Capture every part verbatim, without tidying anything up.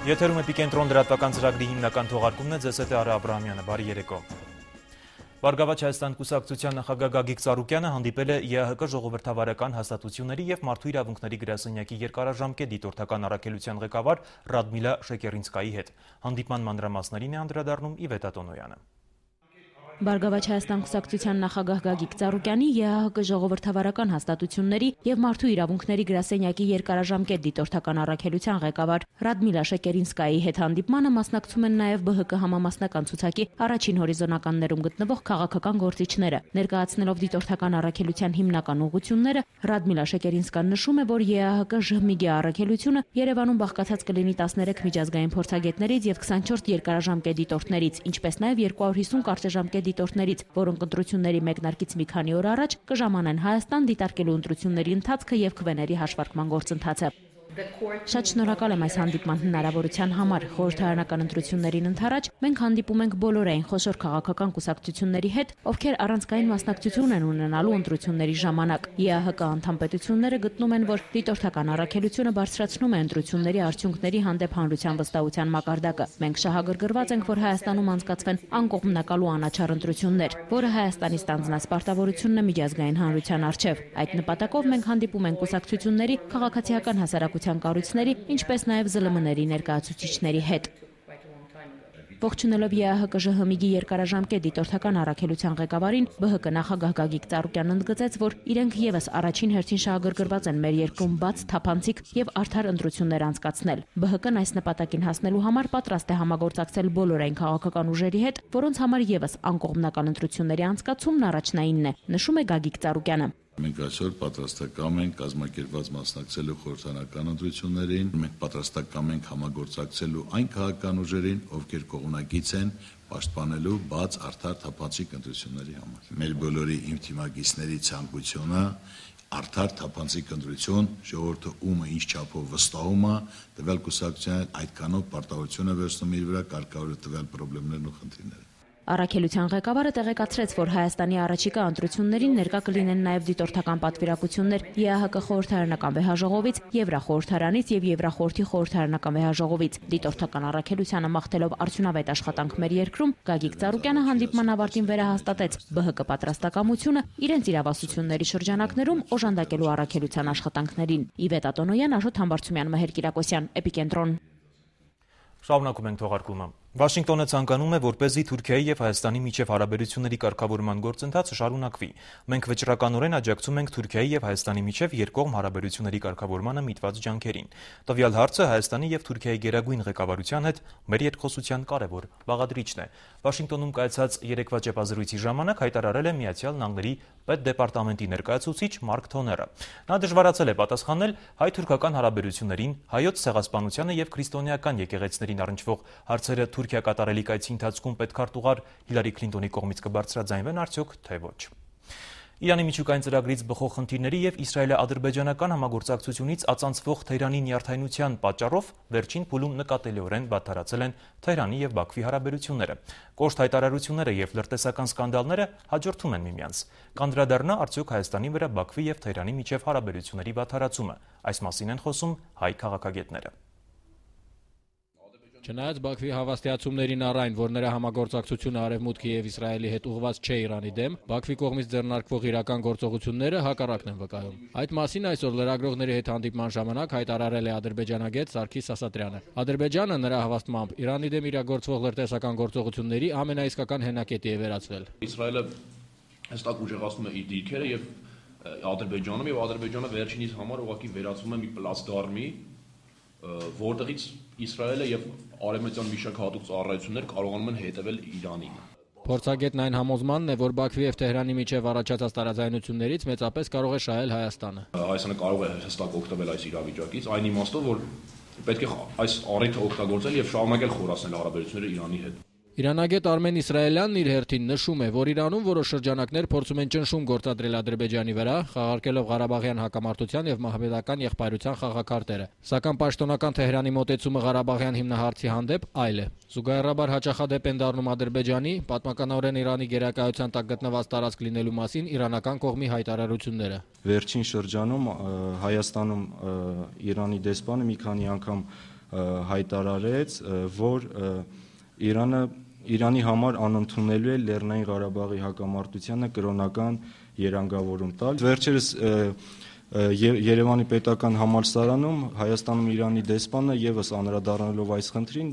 Եթերում Էպիկենտրոն լրատվական ծրագրի հիմնական թողարկումն է, ձեզ հետ է Արա Աբրահամյանը, բարի երեկո։ Բարգավաճ Հայաստան կուսակցության նախագահ Գագիկ Ծառուկյանը հանդիպել է Է Ա Հ Կ ժողովրդավարական հաստատությունների եւ Մարդու իրավունքների գրասենյակի երկարաժամկետ դիտորդական առաքելության ղեկավար Ռադմիլա Շեկերինսկայի հետ։ Հանդիպման մանրամասներին է անդրադառնում Իվետա Տոնոյանը։ Բարգավաճ Հայաստան կուսակցության նախագահ Գագիկ Ծառուկյանի Է Ա Հ Կ ժողովրդավարական հաստատությունների եւ Մարդու իրավունքների գրասենյակի երկարաժամկետ դիտորդական առաքելության ղեկավար Ռադմիլա Շեկերինսկայի հետ հանդիպմանը մասնակցում են նաեւ Բ Հ Կ համամասնական ցուցակի առաջին հորիզոնականներում գտնվող քաղաքական գործիչները։ Ներկայացնելով դիտորդական առաքելության հիմնական ուղղությունները, Ռադմիլա Շեկերինսկան նշում է, որ Է Ա Հ Կ Ժ Հ Մի-ի առաքելությունը Երևանում բաղկացած կլինի տասներեք միջազգային փորձագետներից եւ քսանչորս երկարաժամկետ դիտորդներից, ինչպես նաեւ երկու հարյուր հիսուն կարճաժամկետ դիտորդներից, որոնք ընտրությունների մեկնարկից մի քանի օր առաջ կժամանեն Հայաստան դիտարկելու ընտրությունների ընթացքը եւ քվեների հաշվարկման գործընթացը։ Շատ շնորհակալ եմ այս հանդիպման հնարավորության համար։ Խորհրդարանական ընտրություններին ընդառաջ մենք հանդիպում ենք բոլորային խոշոր քաղաքական կուսակցությունների հետ, ովքեր առանցքային մասնակցություն են ունենալու ընտրությունների ժամանակ։ Է Ա Հ Կ անդամ պետությունները գտնում են, որ դիտորդական առաքելությունը բարձրացնում է ընտրությունների արդյունքների հանդեպ հանրության վստահության մակարդակը։ Մենք շահագրգռված ենք, որ Հայաստանում անցկացվեն անկողմնակալ ու անաչառ ընտրություններ, որը Հայաստանի ստանձնած պարտավորությունն է միջազգային հանրության առջև։ Այդ նպատակով մենք հանդիպում ենք կուսակցությունների, քաղաքացիական հասարակության կառույցների, ինչպես նաև Զ Լ Մ-ների ներկայացուցիչների հետ։ Ողջունելով Է Ա Հ Կ Ժ Հ Մի-ի երկարաժամկետ դիտորդական առաքելության ղեկավարին, Բ Հ Կ նախագահ Գագիկ Ծառուկյանն ընդգծեց, որ իրենք եւս առաջին հերթին շահագրգռված են մեր երկրում բաց, թափանցիկ եւ արդար ընտրություններ անցկացնել։ Բ Հ Կ-ն այս նպատակին հասնելու համար պատրաստ է համագործակցել բոլորային քաղաքական ուժերի հետ, որոնց համար եւս անկողմնակալ ընտրությունների անցկացումն առաջնայինն է, նշում է Գագիկ Ծառուկյանը։ Մենք այսօր պատրաստակամ ենք կազմակերպված մասնակցելու խորհրդարանական ընտրություններին, մենք պատրաստակամ ենք համագործակցելու այն քաղաքական ուժերին, ովքեր կողմնակից են պաշտպանելու բաց, արդար, թափանցիկ ընտրությունների համար։ Մեր բոլորի իմ թիմակիցների ցանկությունը արդար, թափանցիկ ընտրություն, ժողովուրդը ումը ինչ չափով վստահում է, տվյալ կուսակցության այդքանով պարտավորություն է վերցնում իր վրա կարգավորել տվյալ խնդիրներն ու խնդիրները։ Առաքելության ղեկավարը տեղեկացրեց, որ Հայաստանի առաջիկա ընտրություններին ներկա կլինեն նաև դիտորդական պատվիրակություններ Է Ա Հ Կ խորհրդարանական վեհաժողովից, Եվրախորհրդարանից եւ Եվրախորհրդի խորհրդարանական վեհաժողովից։ Դիտորդական առաքելությանը մաղթելով արդյունավետ աշխատանք մեր երկրում, Գագիկ Ծառուկյանը հանդիպման ավարտին վերահաստատեց Բ Հ Կ պատրաստակամությունը իրենց իրավասությունների շրջանակներում օժանդակելու առաքելության աշխատանքներին։ Իվետա Տոնոյան, Աշոտ Համբարձումյան, Մհեր Կիրակոսյան, Էպիկենտրոն։ Շարունակում ենք թողարկումը։ Վաշինգտոնը ցանկանում է, որպեսզի Թուրքիայի եւ Հայաստանի միջև հարաբերությունների կարգավորման գործընթացը շարունակվի։ Մենք վճռականորեն աջակցում ենք Թուրքիայի եւ Հայաստանի միջև երկկողմ հարաբերությունների կարգավորմանը միտված ջանքերին։ Տվյալ հարցը Հայաստանի եւ Թուրքիայի գերագույն ղեկավարության հետ մեր երկխոսության կարևոր բաղադրիչն է։ Վաշինգտոնում կայացած երեկվա ճեպազրույցի ժամանակ հայտարարել է Միացյալ Նահանգների պետդեպարտամենտի ներկայացուցիչ Մարկ Թոները։ Նա դժվարացել է պատասխանել հայ-թուրքական հարաբերություններին, հայոց ցեղասպանությանը եւ քրիստոնեական եկեղեցիներին առնչվող հարցերը Թուրքիա կատարելի կայցի ընթացքում պետքարտուղար Հիլարի Քլինտոնի կողմից կբարձրաձայնվեն արդյոք, թե ոչ։ Իրանի միջուկային ծրագրից բխող խնդիրների եւ իսրայելա-ադրբեջանական համագործակցությունից ածանցվող Թեհրանի նյարդայնության պատճառով վերջին փուլում նկատելիորեն բացառացել են Թեհրանի եւ Բաքվի հարաբերությունները։ Կոշտ հայտարարությունները եւ լրտեսական սկանդալները հաջորդում են միմյանց։ Կանդրադառնա արդյոք Հայաստանի վրա Բաքվի եւ Թեհրանի միջև հարաբերությունների բացառացումը։ Այս մասին են խոսում հայ քաղաքագետները։ Չնայած Բաքվի հավաստիացումներին առ այն, որ նրա համագործակցությունը Արևմուտքի եւ Իսրայելի հետ ուղղված չէ Իրանի դեմ, Բաքվի կողմից ձեռնարկվող իրական գործողությունները հակառակն են վկայում։ Այդ մասին այսօր լրագրողների հետ հանդիպման ժամանակ հայտարարել է ադրբեջանագետ Սարգիս Ասատրյանը։ Ադրբեջանը նրա հավաստմամբ Իրանի դեմ իրագործվող լրտեսական գործողությունների ամենաիսկական հենակետի է վերածվել։ Իսրայելը հստակ ուժեղացնում է իր դիրքերը եւ Ադրբեջանում եւ Ադրբեջանը վերջինիս համար ուղղակի վերածվում է մի պլատֆորմի, որտեղից Իսրայելը եւ արևմտյան մի շարք հատուկ ծառայություններ կարողանում են հետևել Իրանին։ Փորձագետն այն համոզմանն է, որ Բաքվի եւ Թեհրանի միջև առաջացած տարաձայնություններից մեծապես կարող է շահել Հայաստանը։ Հայաստանը կարող է հստակ օգտվել այս իրավիճակից, այն իմաստով, որ պետք է այս առիթը օգտագործել եւ շարունակել խորացնել հարաբերությունները Իրանի հետ։ Իրանագետ Արմեն Իսրայելյանն իր հերթին նշում է, որ Իրանում որոշ շրջանակներ փորձում են ճնշում գործադրել Ադրբեջանի վրա, խաղարկելով Ղարաբաղյան հակամարտության եւ մահմեդական եղբայրության խաղակարտերը։ Սակայն պաշտոնական Թեհրանի մոտեցումը Ղարաբաղյան հիմնահարցի հանդեպ այլ է։ Զուգահեռաբար հաճախադեպ են դառնում Ադրբեջանի, պատմականորեն Իրանի գերակայության տակ գտնված տարածք լինելու մասին իրանական կողմի հայտարարությունները։ Վերջին շրջանում Հայաստանում Իրանի դեսպանը մի քանի անգամ հայտարարեց, որ Իրանը Իրանի համար անընդունելու է Լեռնային Ղարաբաղի հակամարտությանը կրոնական երանգավորում տալ։ Վերջերս Երևանի պետական համալսարանում Հայաստանում Իրանի դեսպանը եւս անդրադառնալով այս խնդրին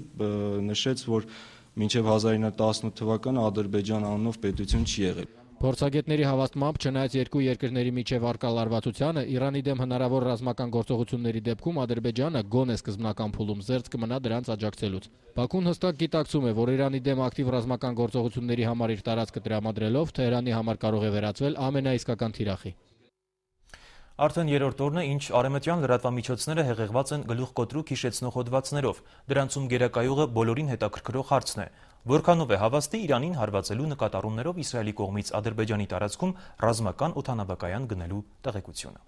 նշեց, որ մինչև հազար ինը տասնութ թվականը Ադրբեջան անունով պետություն չի եղել։ Փորձագետների հավաստմամբ, չնայած երկու երկրների միջև առկա լարվածությանը, Իրանի դեմ հնարավոր ռազմական գործողությունների դեպքում Ադրբեջանը գոնե սկզբնական փուլում զերծ կմնա դրանց աջակցելուց։ Բաքուն հստակ գիտակցում է, որ Իրանի դեմ ակտիվ ռազմական գործողությունների համար իր տարածքը տրամադրելով Թեհրանի համար կարող է վերածվել ամենաիսկական թիրախի։ Արդեն երրորդ օրն է, ինչ արևմտյան լրատվամիջոցները հեղեղված են գլուխկոտրուկ հիշեցնող հոդվածներով, դրանցում գերակայողը բոլորին հետաքրքրող հարցն է. որքանով է հավաստի Իրանին հարվածելու նկատառումներով Իսրայելի կողմից Ադրբեջանի տարածքում ռազմական օդանավակայան գնելու տեղեկությունը։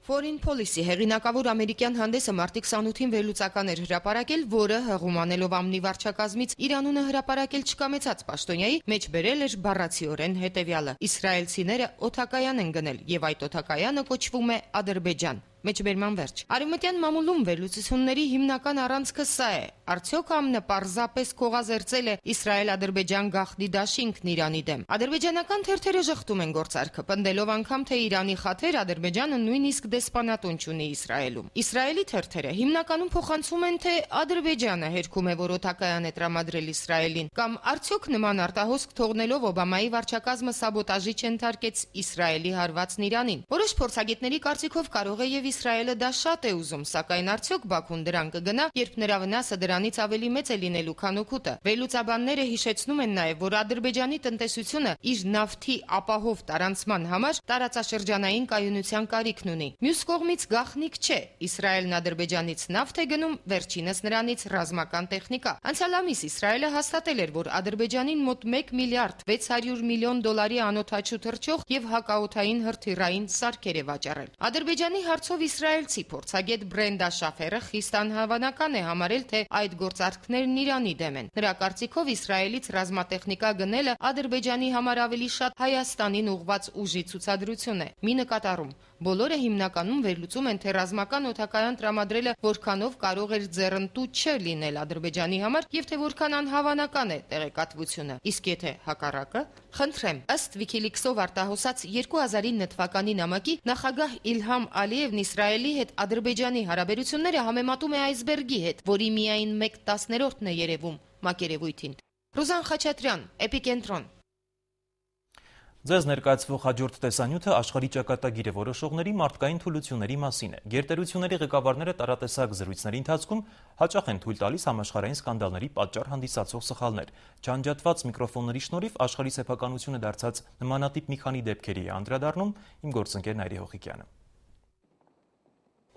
Foreign Policy հեղինակավոր ամերիկյան հանդեսը մարտի քսանութին վերլուծական էր հրապարակել, որը հղումանելով ամնի վարչակազմից Իրանունը հրապարակել չկամեցած պաշտոնյայի մեջ բերել էր բառացիորեն հետևյալը. Իսրայելցիները օդակայան են գնել եւ այդ օդակայանը կոչվում է Ադրբեջան։ Մեջբերման վերջ։ Արևմտյան մամուլում վերլուծությունների հիմնական առանցքը սա է. արդյոք ԱՄՆ-ը պարզապես քողազերծել է Իսրայել-Ադրբեջան գաղտնի դաշինքն Իրանի դեմ։ Ադրբեջանական թերթերը ժխտում են գործարքը, պնդելով անգամ, թե Իրանի խաթեր Ադրբեջանը նույնիսկ դեսպանատուն չունի Իսրայելում։ Իսրայելի թերթերը հիմնականում փոխանցում են, թե Ադրբեջանը հերքում է, որ օդակայան է տրամադրել Իսրայելին, կամ արդյոք նման արտահոսք թողնելով Օբամայի վարչակազմը սաբոտաժի չընթարկեց Իսրայելի հարվածն Իրանին։ Որոշ փորձագետների կարծիքով կարող է եւ Իսրայելը դա շատ է ուզում, սակայն արդյոք Բաքուն դրան կգնա, երբ նրա վնասը դրանից ավելի մեծ է լինելու, քան օգուտը։ Վերլուծաբանները հիշեցնում են նաև, որ Ադրբեջանի տնտեսությունը իր նավթի ապահով տարանցման համար տարածաշրջանային կայունության կարիքն ունի։ Մյուս կողմից գաղտնիք չէ, Իսրայելն Ադրբեջանից նավթ է գնում, վերջինս նրանից ռազմական տեխնիկա։ Անցյալ ամիս Իսրայելը հաստատել էր, որ Ադրբեջանին մոտ մեկ միլիարդ վեց հարյուր միլիոն դոլարի անօդաչու թռչող եւ հակաօդային հրթիռային սարքեր է վաճառել։ Ադրբեջանի հարցով իսրայելցի փորձագետ Բրենդա Շաֆերը խիստ անհավանական է համարել, թե այդ գործարքներն Իրանի դեմ են։ Նրա կարծիքով Իսրայելից ռազմատեխնիկա գնելը Ադրբեջանի համար ավելի շատ Հայաստանին ուղղված ուժի ցուցադրություն է։ Մի նկատառում. բոլորը հիմնականում վերլուծում են, թե ռազմական օդակայան տրամադրելը որքանով կարող էր ձեռնտու չլինել Ադրբեջանի համար եւ թե որքան անհավանական է տեղեկատվությունը։ Իսկ եթե հակառակը, խնդրեմ, ըստ Wikileaks-ով արտահոսած երկու հազար ինը թվականի նամակի նախագահ Իլհամ Ալիևն Իսրայելի հետ Ադրբեջանի հարաբերությունները համեմատում է այսբերգի հետ, որի միայն մեկ տասներորդն է երևում մակերևույթին։ Ռուզան Խաչատրյան, Էպիկենտրոն։ Ձեզ ներկայացվող հաջորդ տեսանյութը աշխարհի ճակատագիրը որոշողների մարդկային թուլությունների մասին է։ Գերտերությունների ղեկավարները տարատեսակ զրույցների ընթացքում հաճախ են թույլ տալիս համաշխարհային սկանդալների պատճառ հանդիսացող սխալներ։ Չանջատված միկրոֆոնների շնորհիվ աշխարհի սեփականությունը դարձած նմանատիպ մի քանի դեպքերի է անդրադառնում իմ գործընկեր Նայիրի Հողիկյանը։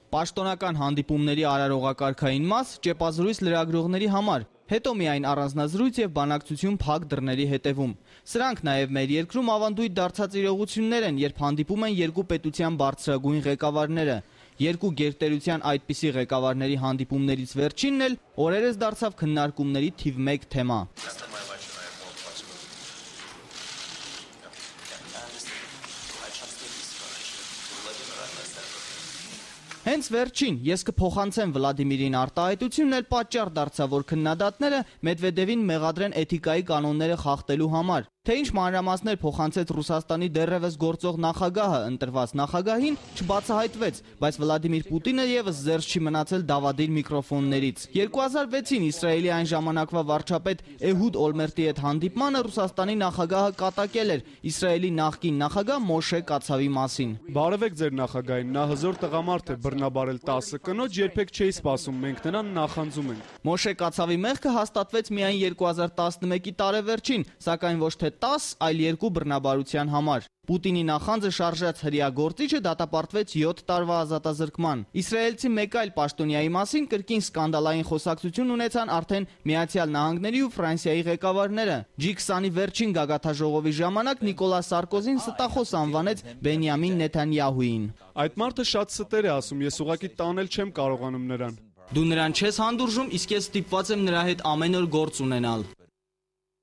Պաշտոնական հանդիպումների արարողակարգային մաս ճեպազրույց լրագրողների համար, հետո միայն առանձնազրույց եւ բանակցություն փակ դռների հետևում։ Սրանք նաեւ մեր երկրում ավանդույթ դարձած իրողություններ են, երբ հանդիպում են երկու պետության բարձրագույն ղեկավարները։ Երկու գերտերության այդպիսի ղեկավարների հանդիպումներից վերջինն էլ օրերս դարձավ քննարկումների թիվ մեկ թեմա։ Հենց վերջին, ես կփոխանցեմ Վլադիմիրին արտահայտությունն էլ պատճառ դարձավ, որ քննադատները Մեդվեդևին մեղադրեն էթիկայի կանոնները խախտելու համար։ Թե ինչ մանրամասներ փոխանցեց Ռուսաստանի դեռևս գործող նախագահը ընտրված նախագահին, չբացահայտվեց, բայց Վլադիմիր Պուտինը եւս զերծ չի մնացել դավադիր միկրոֆոններից։ երկու հազար վեցին Իսրայելի այն ժամանակվա վարչապետ Էհուդ Օլմերտի հետ հանդիպմանը Ռուսաստանի նախագահը կատակել էր Իսրայելի նախկին նախագահ Մոշե Կացավի մասին։ Բարևեք ձեր նախագահին, նա հզոր տղամարդ է, բռնաբարել տասը կնոջ, երբեք չէի սպասում, մենք նրան նախանձում ենք։ Մոշե Կացավի մեղքը հաստատվեց միայն երկու հազար տասնմեկի տարեվերջին, սակայն ոչ թե տաս, այլ երկու բռնաբարության համար։ Պուտինի նախանձը շարժած հրեա գործիչը դատապարտվեց յոթ տարվա ազատազրկման։ Իսրայելցի մեկ այլ պաշտոնյայի մասին կրկին սկանդալային խոսակցություն ունեցան արդեն Միացյալ Նահանգների ու Ֆրանսիայի ղեկավարները։ ջի քսանի վերջին գագաթաժողովի ժամանակ Նիկոլա Սարկոզին ստախոս անվանեց Բենյամին Նեթանյահուին։ Այդ մարդը շատ ստեր է ասում, ես ուղղակի տանել չեմ կարողանում նրան։ Դու նրան չես հանդուրժում, իսկ ես ստիպված եմ նրա հետ ամեն օր գործ ունենալ։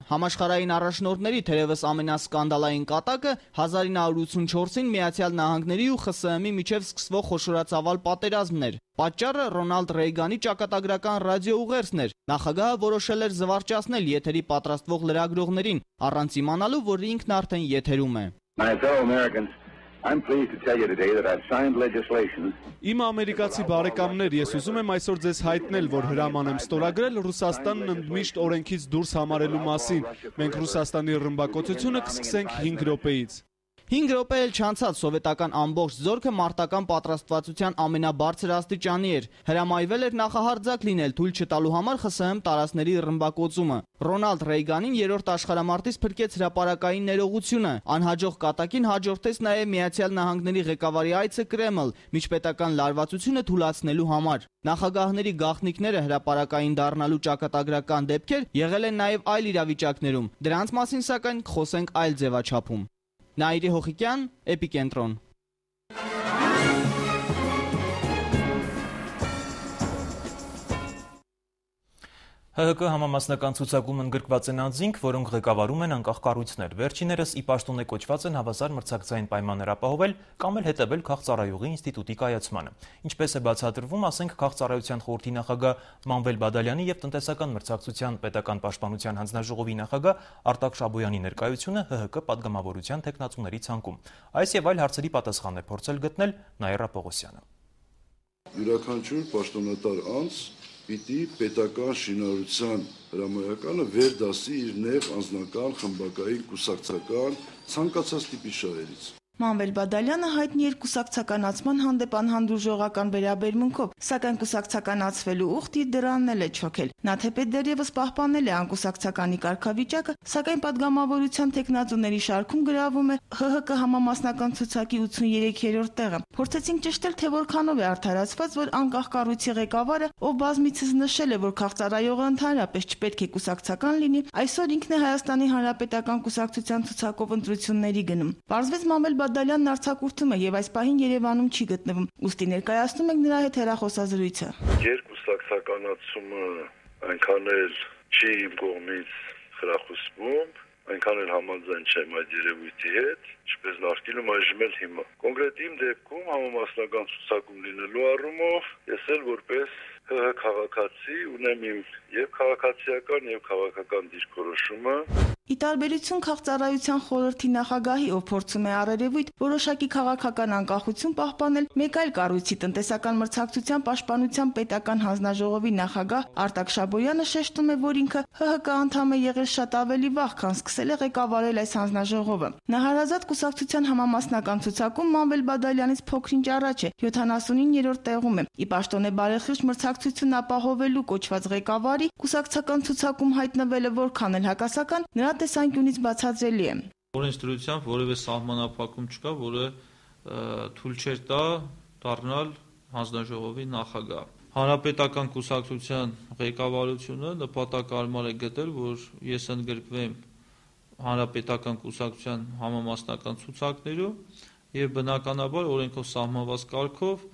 Համաշխարհային առաջնորդների թերևս ամենասկանդալային կատակը հազար ինը հարյուր ութսունչորսին Միացյալ Նահանգների ու Խ Ս Հ Մ-ի միջև սկսվող խոշորացավալ պատերազմն էր։ Պատճառը Ռոնալդ Ռեյգանի ճակատագրական ռադիոուղերձն էր։ Նախագահը որոշել էր զվարճացնել եթերի պատրաստվող լրագրողներին, առանց իմանալու, որ ինքն արդեն եթերում է։ I'm pleased to tell you today that I've signed legislation. Իմ ամերիկացի բարեկամներ, ես ուզում եմ այսօր ձեզ հայտնել, որ հրաման եմ ստորագրել Ռուսաստանն ընդմիշտ օրենքից դուրս համարելու մասին։ Մենք Ռուսաստանի ռմբակոծությունը կսկսենք հինգ րոպեից։ հինգ րոպե էլ չանցած սովետական ամբողջ զորքը մարտական պատրաստվածության ամենաբարձր աստիճանի էր։ Հրամայվել էր նախահարձակ լինել թույլ չտալու համար Խ Ս Հ Մ տարածքների ռմբակոծումը։ Ռոնալդ Ռեյգանին երրորդ աշխարհամարտից փրկեց հրապարակային ներողությունը։ Անհաջող կատակին հաջորդեց նաև Միացյալ Նահանգների ղեկավարի այցը Կրեմլ, միջպետական լարվածությունը թուլացնելու համար։ Նախագահների գաղտնիքները հրապարակային դառնալու ճակատագրական դեպքեր եղել են նաև այլ իրավիճակներում։ Դրանց մասին սակայն կխոսենք այլ ձևաչափում։ Նաիրի Հոխիկյան, Էպիկենտրոն։ Հ Հ Կ համամասնական ցուցակում ընդգրկված են անձինք, որոնք ղեկավարում են անկախ կառույցներ, վերջիներս ի պաշտոն է կոչված են հավասար մրցակցային պայմաններ ապահովել կամ էլ հետևել քաղծառայողի ինստիտուտի կայացմանը։ Ինչպես է բացատրվում, ասենք քաղծառայության խորհրդի նախագահ Մանվել Բադալյանի եւ տնտեսական մրցակցության պետական պաշտպանության հանձնաժողովի նախագահ Արտակ Շաբոյանի ներկայությունը Հ Հ Կ падգամավորության տեխնացուների ցանկում։ Այս եւ այլ հարցերի պատասխան է փորձել գտնել Նաիրա Պողոսյանը։ Յուրաքանչյուր պաշտոնատար անձ պիտի պետական շինարարության հրամայականը վերդասի իր նեղ անձնական, խմբակային, կուսակցական, ցանկացած տիպի շահերից։ Մանվել Բադալյանը հայտնի էր կուսակցականացման հանդեպ անհանդուրժողական վերաբերմունքով, սակայն կուսակցականացվելու ուխտ իր դրանն էլ է չոքել։ Նա թեպետ դեռևս պահպանել է անկուսակցականի կարգավիճակը, սակայն падգամավորության տեխնացուների շարքում գրավում է Հ Հ Կ համամասնական ցուցակի ութսուններորդ տեղը։ Փորձեցինք ճշտել, թե որքանով է արդարացված, որ անկախ կառույցի ղեկավարը, ով բազմիցս նշել է, որ քաղծառայողը ընդհանրապես չպետք է կուսակցական լինի, այսօր ինքն է Հայաստանի Հանրապետական կուսակցության ցուցակով ընտրությունների գնում։ Պարզվեց Մանվել Բադալյանն արձակուրդում է եւ այս պահին Երևանում չի գտնվում։ Ուստի ներկայացնում ենք նրա հետ հեռախոսազրույցը։ Երկուսակցականացումը այնքան էլ չի իմ կողմից խրախուսվում, այնքան էլ համաձայն չեմ այդ երևույթի հետ, ինչպես նախկինում այժմ էլ հիմա։ Կոնկրետ իմ դեպքում համամասնական ցուցակում լինելու առումով ես էլ որպես Հ Հ քաղաքացի ունեմ իմ եւ քաղաքացիական եւ քաղաքական դիրքորոշումը։ Ի տարբերություն քաղծառայության խորհրդի նախագահի, ով փորձում է առերևույթ որոշակի քաղաքական անկախություն պահպանել, մեկ այլ կառույցի տնտեսական մրցակցության պաշտպանության պետական հանձնաժողովի նախագահ Արտակ Շաբոյանը շեշտում է, որ ինքը Հ Հ Կ անդամ է եղել շատ ավելի վաղ, քան սկսել է ղեկավարել այս հանձնաժողովը։ Նահարազատ կուսակցության համամասնական ցուցակում Մանվել Բադալյանից փոքրինչ առաջ է, յոթանասունիններորդ տեղում է։ Ի պաշտոն է բարեխիղճ մրցակցություն ապահովելու կոչված ղեկավարի կուսակցական ցուցակում հայտնվելը որքան էլ հակասական, նրա տեսանկյունից բացատրելի է։ Օրենսդրությամբ որևէ սահմանափակում չկա, որը թույլ չէր տա դառնալ հանձնաժողովի նախագահ։ Հանրապետական կուսակցության ղեկավարությունը նպատակարար է գտել, որ ես ընդգրկվեմ հանրապետական կուսակցության համամասնական ցուցակներում եւ բնականաբար օրենքով սահմանված կարգով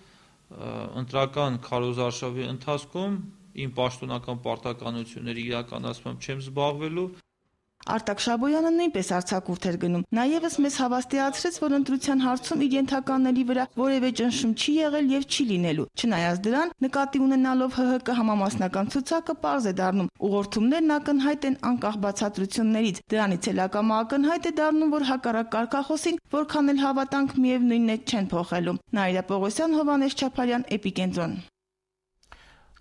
ընտրական քարոզարշավի ընթացքում իմ պաշտոնական պարտականությունների իրականացմամբ չեմ զբաղվելու։ Արտակ Շաբոյանը նույնպես արձակուրդ էր գնում։ Նա ևս մեզ հավաստիացրեց, որ ընտրության հարցում իր ենթականների վրա որևէ ճնշում չի եղել եւ չի լինելու։ Չնայած դրան, նկատի ունենալով Հ Հ Կ համամասնական ցուցակը պարզ է դառնում։ Ուղղորդումներն ակնհայտ են անկախ բացատրություններից։ Դրանից էլ ակամա ակնհայտ է դառնում, որ հակառակ կարգախոսին, որքան էլ հավատանք միևնույնն է չեն փոխելու։ Նաիրա Պողոսյան, Հովհաննես Չապարյան, Էպիկենտրոն։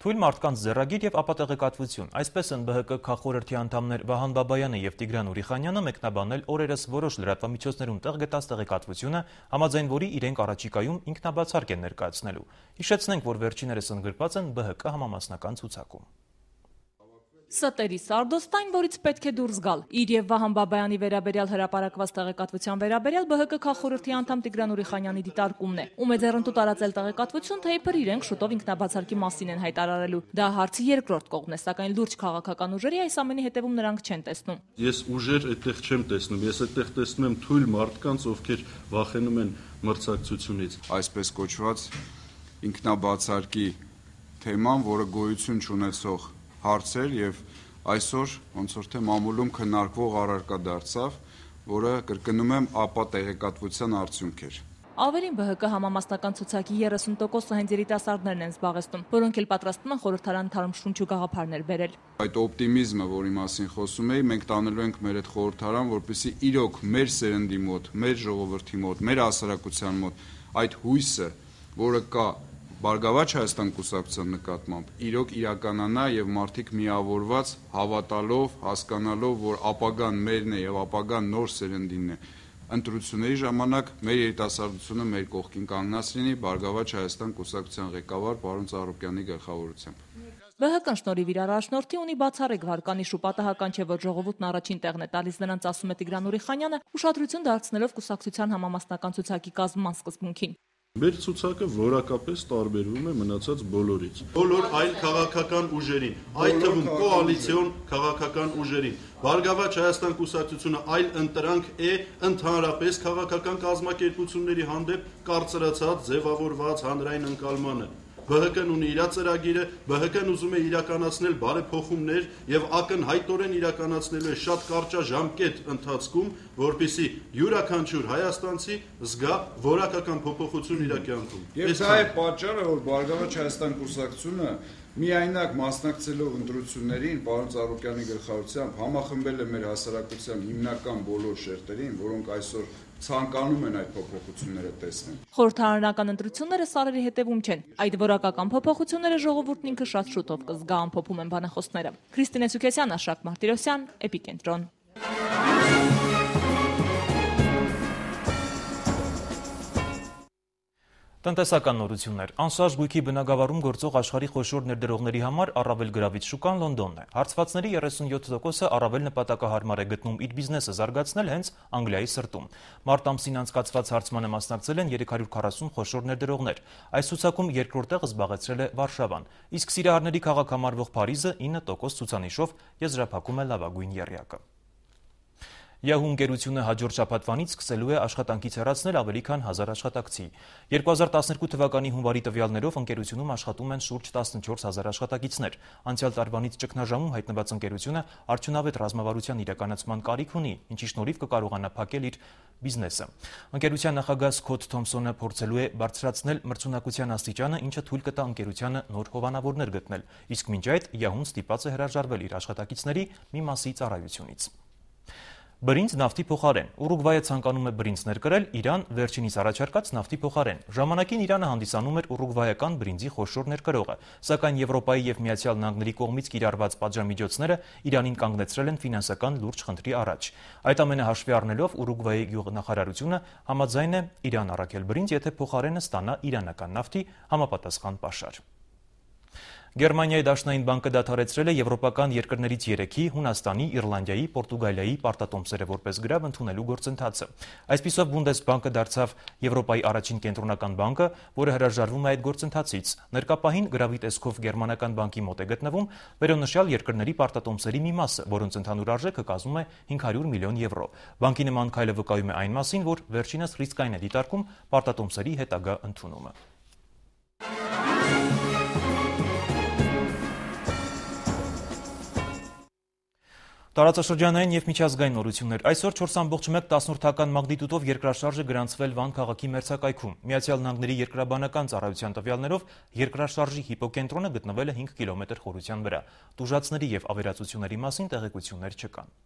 Թույլ մարդկանց ձեռագիր եւ ապատեղեկատվություն։ Այսպես են Բ Հ Կ քաղխորհրդի անդամներ Վահան Բաբայանը եւ Տիգրան Ուրիխանյանը մեկնաբանել օրերս որոշ լրատվամիջոցներում տեղ գտած տեղեկատվությունը, համաձայն որի իրենք առաջիկայում ինքնաբացարկ են ներկայացնելու։ Հիշեցնենք, որ վերջիներս ընդգրկված են Բ Հ Կ համամասնական ցուցակում։ Ստերի Սարդոստայն, որից պետք է դուրս գալ։ Իր եւ Վահան Բաբայանի վերաբերյալ հրապարակված տեղեկատվության վերաբերյալ Բ Հ Կ քաղխորհրդի անդամ Տիգրան Ուրիխանյանի դիտարկումն է։ Ում է ձեռնտու տարածել տեղեկատվություն, թե իբր իրենք շուտով ինքնաբացարկի մասին են հայտարարելու։ Դա հարցի երկրորդ կողմն է, սակայն լուրջ քաղաքական ուժերի այս ամենի հետևում նրանք չեն տեսնում։ Ես ուժեր այդտեղ չեմ տեսնում, ես այդտեղ տեսնում եմ թույլ մարդկանց, ովքեր վախենում են մրցակցությունից։ Այսպես կոչված ինքնաբացարկի թեման, որը գոյություն չունեցող հարցեր եւ այսօր ոնց որ թե մամուլում քննարկվող առարկա դարձավ, որը կրկնում եմ ապա տեղեկատվության արդյունք էր։ Ավելին Բ Հ Կ համամասնական ցուցակի երեսուն տոկոսը հենց երիտասարդներն են զբաղեցնում, որոնք էլ պատրաստվում են խորհրդարան թարմ շունչ ու գաղափարներ բերել։ Այդ օպտիմիզմը, որի մասին խոսում էի, մենք տանելու ենք մեր այդ խորհրդարան, որպեսզի իրոք մեր սերնդի մոտ, մեր ժողովրդի մոտ, մեր հասարակության մոտ այդ հույսը, որը կա Բարգավաճ Հայաստան կուսակցության նկատմամբ, իրոք իրականանա եւ մարդիկ միավորված հավատալով, հասկանալով, որ ապագան մերն է եւ ապագան նոր սերնդինն է, ընտրությունների ժամանակ մեր երիտասարդությունը մեր կողքին կանգնած լինի Բարգավաճ Հայաստան կուսակցության ղեկավար պարոն Ծառուկյանի գլխավորությամբ։ Բ Հ Կ-ն շնորհիվ իր առաջնորդի ունի բացառիկ վարկանիշ ու պատահական չէ, որ ժողովուրդն առաջին տեղն է տալիս նրանց, ասում է Տիգրան Ուրիխանյանը, ուշադրություն դարձնելով կուսակցության համամասնական ցուցակի կազմման սկզբունքին։ Մեր ցուցակը որակապես տարբերվում է մնացած բոլորից։ Բոլոր այլ քաղաքական ուժերին, այդ թվում կոալիցիոն քաղաքական ուժերին, Բարգավաճ Հայաստան կուսակցությունը այլ ընտրանք է ընդհանրապես քաղաքական կազմակերպությունների հանդեպ կարծրացած ձևավորված հանրային ընկալմանը։ Բ Հ Կ-ն ունի իր ծրագիրը, Բ Հ Կ-ն ուզում է իրականացնել բարեփոխումներ եւ ակնհայտորեն իրականացնելու է շատ կարճաժամկետ ընթացքում, որպեսզի յուրաքանչյուր հայաստանցի զգա որակական փոփոխություն իր կյանքում։ Եվ դա է պատճառը, որ Բարգավաճ Հայաստան կուսակցությունը միայնակ մասնակցելով ընտրություններին, պարոն Ծառուկյանի գլխավորությամբ համախմբել է մեր հասարակության հիմնական բոլոր շերտերին, որոնք այսօր ցանկանում են այդ փոփոխությունները տեսնել։ Խորհրդարանական ընտրությունները սարերի հետևում չեն։ Այդ որակական փոփոխությունները ժողովուրդն ինքը շատ շուտով կզգա, ամփոփում են բանախոսները։ Քրիստինե Սուքեսյան, Աշակ Մարտիրոսյան, Էպիկենտրոն։ Տնտեսական նորություններ։ Անշարժ գույքի բնագավառում գործող աշխարհի խոշոր ներդրողների համար առավել գրավիչ շուկան Լոնդոնն է։ Հարցվածների երեսունյոթ տոկոսը առավել նպատակահարմար է գտնում իր բիզնեսը զարգացնել հենց Անգլիայի սրտում։ Մարտ ամսին անցկացված հարցմանը մասնակցել են երեք հարյուր քառասուն խոշոր ներդրողներ։ Այս ցուցակում երկրորդ տեղը զբաղեցրել է Վարշավան, իսկ Սիրահարների քաղաք համարվող Փարիզը ինը տոկոս ցուցանիշով եզրափակում է լավագույն եռյակը։ Yahoo ընկերությունը հաջորդ շաբաթվանից սկսելու է աշխատանքից հեռացնել ավելի քան հազար աշխատակցի։ երկու հազար տասներկու թվականի հունվարի տվյալներով ընկերությունում աշխատում են շուրջ տասնչորս հազար աշխատակիցներ։ Անցյալ տարվանից ճգնաժամում հայտնված ընկերությունը արդյունավետ ռազմավարության իրականացման կարիք ունի, ինչի շնորհիվ կկարողանա փակել իր բիզնեսը։ Ընկերության նախագահ Սքոթ Թոմսոնը փորձելու է բարձրացնել մրցունակության աստիճանը, ինչը թույլ կտա ընկերությանը նոր հովանավորներ գտնել, իսկ մինչ այդ Yahoo-ն ստիպված է հրաժարվել իր աշխատակիցների մի մասի ծառայությունից։ Բրինձ նավթի փոխարեն։ Ուրուգվայը ցանկանում է բրինձ ներկրել Իրան վերջինիս առաջարկած նավթի փոխարեն։ Ժամանակին Իրանը հանդիսանում էր ուրուգվայական բրինձի խոշոր ներկրողը, սակայն Եվրոպայի եւ Միացյալ Նահանգների կողմից կիրառված պատժամիջոցները Իրանին կանգնեցրել են ֆինանսական լուրջ խնդրի առաջ։ Այդ ամենը հաշվի առնելով Ուրուգվայի գյուղնախարարությունը համաձայն է Իրան առաքել բրինձ, եթե փոխարենը ստանա իրանական նավթի համապատասխան պաշար։ Գերմանիայի Դաշնային բանկը դադարեցրել է եվրոպական երկրներից երեքի՝ Հունաստանի, Իռլանդիայի, Պորտուգալիայի պարտատոմսերը որպես գրավ ընդունելու գործընթացը։ Այսպիսով Բունդեսբանկը դարձավ Եվրոպայի առաջին կենտրոնական բանկը, որը հրաժարվում է այդ գործընթացից։ Ներկապահին գրավի տեսքով գերմանական բանկի մոտ է գտնվում վերոնշյալ երկրների պարտատոմսերի մի մասը, որոնց ընդհանուր արժեքը կազմում է հինգ հարյուր միլիոն եվրո։ Բանկի նման քայլը վկայում է այն մասին, որ վերջինս ռիսկային է դիտարկում պարտատոմսերի հետագա ընդունումը։ Տարածաշրջանային եւ միջազգային նորություններ։ Այսօր չորս ամբողջ մեկ տասնորդական մագնիտուդով երկրաշարժը գրանցվել Վան քաղաքի մերձակայքում։ Միացյալ Նահանգների երկրաբանական ծառայության տվյալներով երկրաշարժի հիպոկենտրոնը գտնվել է հինգ կիլոմետր խորության վրա։ Տուժածների եւ ավերածությունների մասին տեղեկություններ չկան։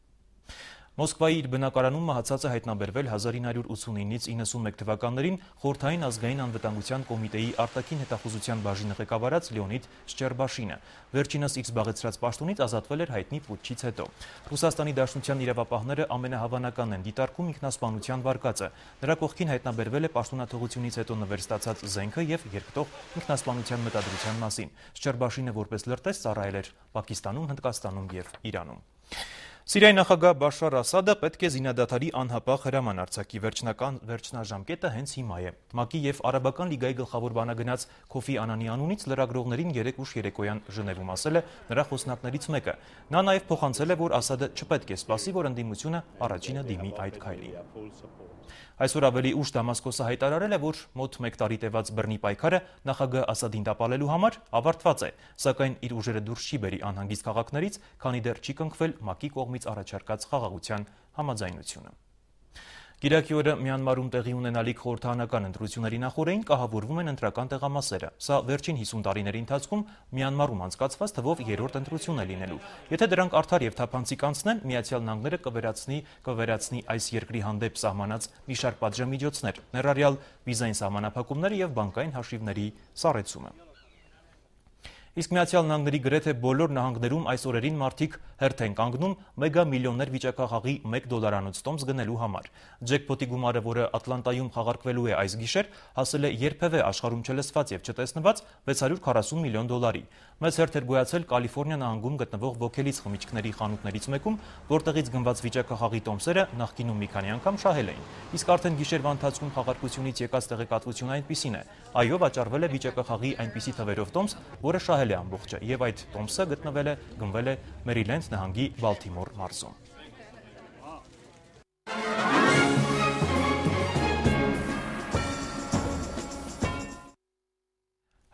Մոսկվայի իր բնակարանում մահացածը հայտնաբերվել հազար ինը հարյուր ութսունինից իննսունմեկ թվականներին Խորհրդային ազգային անվտանգության կոմիտեի արտաքին հետախուզության բաժինը ղեկավարած Լեոնիդ Շչերբաշինը։ Վերջինս իր զբաղեցրած պաշտոնից ազատվել էր հայտնի պուտչից հետո։ Ռուսաստանի Դաշնության իրավապահները ամենահավանական են դիտարկում ինքնասպանության վարկածը։ Նրա կողքին հայտնաբերվել է պաշտոնաթողությունից հետո նվեր ստացած զենքը եւ երկտող ինքնասպանության մտադրության մասին։ Շչերբաշինը որպես լրտես ծառայել էր Պակիստանում, Հնդկաստանում եւ Իրանում։ Սիրիայի նախագահ Բաշար Ասադը պետք է զինադադարի անհապաղ հրաման արձակի, վերջնական վերջնաժամկետը հենց հիմա է։ ՄԱԿ-ի եւ Արաբական լիգայի գլխավոր բանագնաց Քոֆի Անանի անունից լրագրողներին երեկ ուշ երեկոյան Ժնևում ասել է նրա խոսնակներից մեկը։ Նա նաեւ փոխանցել է, որ Ասադը չպետք է սպասի, որ ընդդիմությունը առաջինը դիմի այդ քայլին։ Այսօր ավելի ուշ Դամասկոսը հայտարարել է, որ մոտ մեկ տարի տևած բռնի պայքարը նախագահ Ասադին տապալելու համար ավարտված է, սակայն իր ուժերը դուրս չի բերի անհանգիստ քաղաքներից, քանի դեռ չի կնքվել ՄԱԿ-ի կողմից առաջարկած խաղաղության համաձայնությունը։ Կիրակի օրը Մյանմարում տեղի ունենալիք խորհրդարանական ընտրությունների նախօրեին կահավորվում են ընտրական տեղամասերը։ Սա վերջին հիսուն տարիների ընթացքում Մյանմարում անցկացված թվով երրորդ ընտրությունն է լինելու։ Եթե դրանք արդար եւ թափանցիկ անցնեն, Միացյալ Նահանգները կվերացնի կվերացնի այս երկրի հանդեպ սահմանած մի շարք պատժամիջոցներ, ներառյալ վիզային սահմանափակումները եւ բանկային հաշիվների սառեցումը։ Իսկ Միացյալ Նահանգների գրեթե բոլոր նահանգներում այս օրերին մարդիկ հերթ են կանգնում մեգա միլիոններ վիճակախաղի մեկ դոլարանոց տոմս գնելու համար։ Ջեքփոթի գումարը, որը Ատլանտայում խաղարկվելու է այս գիշեր, հասել է երբևէ աշխարհում չլսված եւ չտեսնված վեց հարյուր քառասուն միլիոն դոլարի։ Մեծ հերթ էր գոյացել Կալիֆոռնիա նահանգում գտնվող ոգելից խմիչքների խանութներից մեկում, որտեղից գնված վիճակախաղի տոմսերը նախկինում մի քանի անգամ շահել էին։ Իսկ արդեն գիշերվա ընթացքում խաղարկությունից եկած տեղեկատվությունը այնպիսին է. այո, վաճառվել է վիճակախաղի այնպիսի թվերով տոմս, որը շահել է ամբողջը, եւ այդ տոմսը գտնվել է գնվել է Մերիլենդ նահանգի Բալթիմոր մարզում։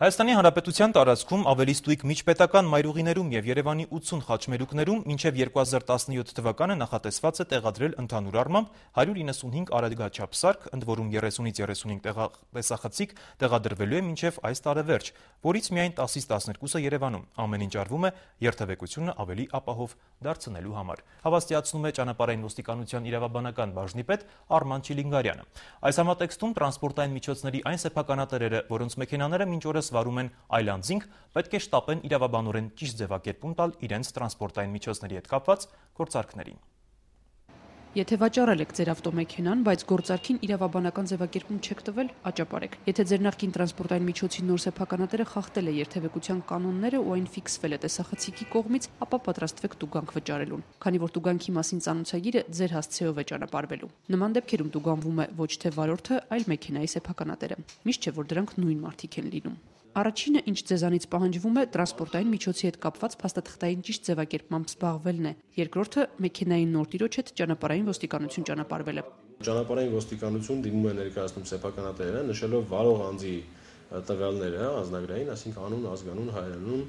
Հայաստանի Հանրապետության տարածքում ավելի ստույգ միջպետական մայրուղիներում եւ Երևանի ութսուն խաչմերուկներում մինչեւ երկու հազար տասնյոթ թվականը նախատեսված է տեղադրել ընդհանուր առմամբ հարյուր իննսունհինգ արագաչափ սարք, ընդ որում երեսունից երեսունհինգ տեսախցիկ տեղադրվելու է մինչեւ այս տարեվերջ, որից միայն տասից տասներկուսը Երևանում։ Ամեն ինչ արվում է երթևեկությունը ավելի ապահով դարձնելու համար, հավաստիացնում է ճանապարհային ոստիկանության իրավաբանական բաժնի պետ Արման Չիլինգարյանը։ Այս համատեքստում տրանսպորտային միջոցների այն սեփականատերերը, որոնց մեքենաները մինչ օրս վարում են այլանդզինգ, պետք է շտապեն իրավաբանորեն ճիշտ ձևակերպում տալ իրենց տրանսպորտային միջոցների հետ կապված գործարքներին։ Եթե վաճառել եք ձեր ավտոմեքենան, բայց գործարքին իրավաբանական ձևակերպում չեք տվել, աճապարեք։ Եթե ձեր նախկին տրանսպորտային միջոցի նոր սեփականատերը խախտել է երթևեկության կանոնները ու այն ֆիքսվել է տեսախցիկի կողմից, ապա պատրաստվեք տուգանք վճարելուն, քանի որ տուգանքի մասին ծանոթագիրը ձեր հասցեով է ճանապարհվելու։ Նման դեպքերում տուգանվում է ոչ թե վարորդը, այլ մեքենայի սեփականատերը։ Միշտ չէ, որ դրանք նույն մարդիկ են լինում։ Առաջինը, ինչ ձեզանից պահանջվում է, տրանսպորտային միջոցի հետ կապված փաստաթղթային ճիշտ ձևակերպմամբ զբաղվելն է։ Երկրորդը, մեքենայի նոր տիրոջ հետ ճանապարհային ոստիկանություն ճանապարհվելը։ Ճանապարհային ոստիկանություն դիմում է ներկայացնում սեփականատերերը, նշելով վարող անձի տվյալները, անձնագրային, այսինքն անուն, ազգանուն, հայրենուն,